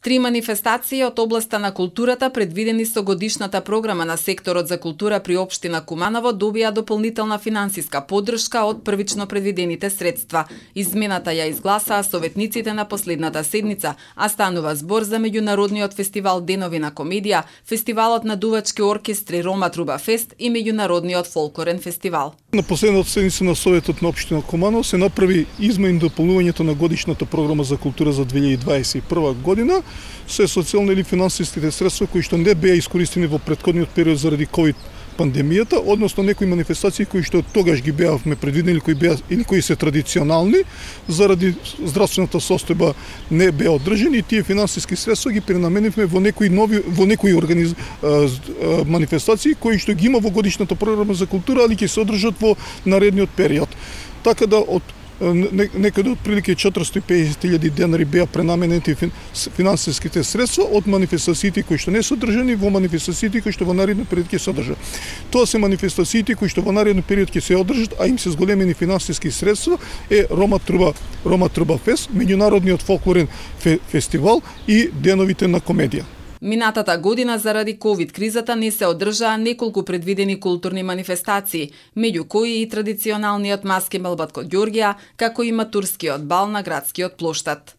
3 манифестации од областа на културата предвидени со годишната програма на секторот за култура при општина Куманово добија дополнителна финансиска поддршка од првично предвидените средства. Измената ја изгласаа советниците на последната седница, а станува збор за меѓународниот фестивал Денови на комедија, фестивалот на дувачки оркестри Рома Труба Фест и меѓународниот фолклорен фестивал. На последната седница на Советот на општина Куманово се направи измени и дополнувањето на годишната програма за култура за 2021 година, се социјални или финансиските средства кои што не беа искористени во претходниот период заради ковид пандемијата, односно некои манифестации кои што тогаш ги беавме предвидени или кои се традиционални, заради здравствената состојба не беа одржани и тие финансиски средства ги пренаменивме во некои манифестации кои што ги има во годишната програма за култура, али ќе се одржат во наредниот период. Така да од некаде од прилike 450.000 денари беа пренаменети финансиските средства од манифестациите кои што не се одржани во манифестациите кои што во наредниот период ќе се одржат. Тоа се манифестациите кои што во наредниот период ќе се одржат, а им се зголемени финансиски средства е Рома Труба Фест, меѓународниот фолклорен фестивал и Деновите на комедија. Минатата година заради ковид кризата не се одржаа неколку предвидени културни манифестации, меѓу кои и традиционалниот маски мелбат код Ѓорѓија, како и матурскиот бал на градскиот плоштад.